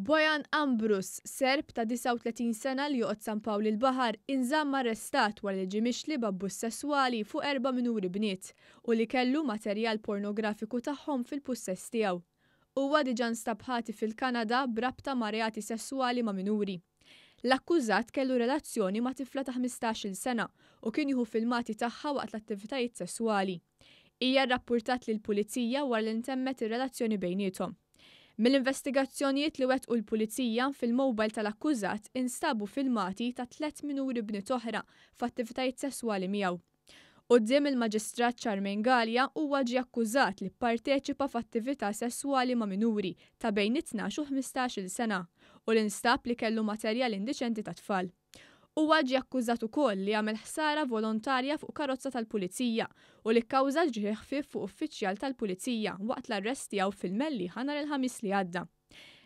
Bojan Ambrus, Serb ta' 39 sena li joqgħod San Pawl il-Baħar, inżamm arrestat wara li ġie mixli b'abbuż sesswali fuq erba' minuri bniet u li kellu materjal pornografiku tagħhom fil-pussess tiegħu. Huwa diġà nstab ħati fil-Kanada b'rabta ma' reati sesswali ma' minuri. L-akkużat kellu relazzjoni ma' tifla ta' 15-il sena u kien jieħu filmati tagħha waqt l-attivitajiet sesswali. Hija rrappurtat lill-Pulizija wara li ntemmet ir-relazzjoni bejniethom. Mill-investigazzjonijiet li wettqu l-Pulizija, fil-mobile tal-akkużat instabu filmati ta' tlett minuri bniet oħra f'attivitajiet sesswali miegħu. Quddiem il-Maġistrat Charmaine Galea huwa ġie akkużat li pparteċipa f'attività sesswali ma' minuri ta' bejn it-tnax u 15-il sena u li nstab li kellu materjal indiċenti ta' tfal. Huwa ġie akkużat ukoll li għamel ħsara volontarja fuq karozza tal-Pulizija u li kkawża ġrieħi ħfief fuq uffiċjal tal-Pulizija waqt l-arrest tiegħu fil-Mellieħa nhar il-Ħamis li għadda.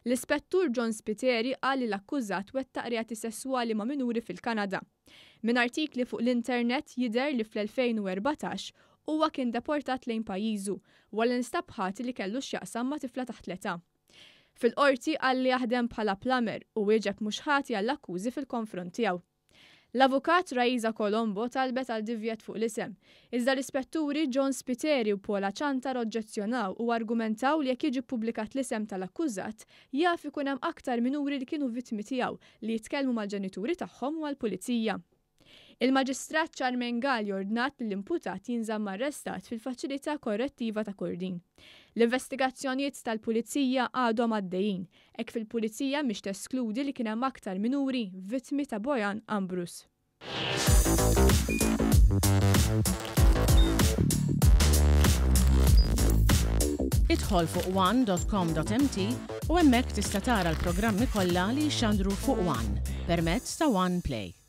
L-Ispettur John Spiteri qal li l-akkużat wettaq reati sesswali ma' minuri fil-Kanada. Minn artikli fuq l-internet jidher li fl-2014 huwa kien deportat lejn pajjiżu wara li nstab ħati li kellu x'jaqsam ma' tifla taħt l-età. Fil-Qorti qal li jaħdem bħala plumber u wieġeb mhux ħati għall-akkużi fil-konfront tiegħu. L-Avukat Raisa Colombo talbet għal divjet fuq l-isem, iżda l-Ispetturi John Spiteri u Paula Ciantar oġġezzjonaw u argumentaw li jekk jiġi ppubblikat l-isem tal-akkużat, jaf ikun hemm aktar minuri li kienu vittmi tiegħu li jitkellmu mal-ġenituri tagħhom u mal-Pulizija. Il-Maġistrat Charmaine Galli ordnat li l-imputat jinżamm arrestat fil-Faċilità Korrettiva ta' Kordin. L-investigazzjonijiet tal-Pulizija għadhom għaddejjin, hekk kif il-Pulizija mhix teskludi li kien hemm aktar minuri vittmi ta' Bojan Ambrus. Idħol fuq one.com.mt u hemmhekk tista' tara l-programmi kollha li jixxandru fuq One permezz ta' One Play.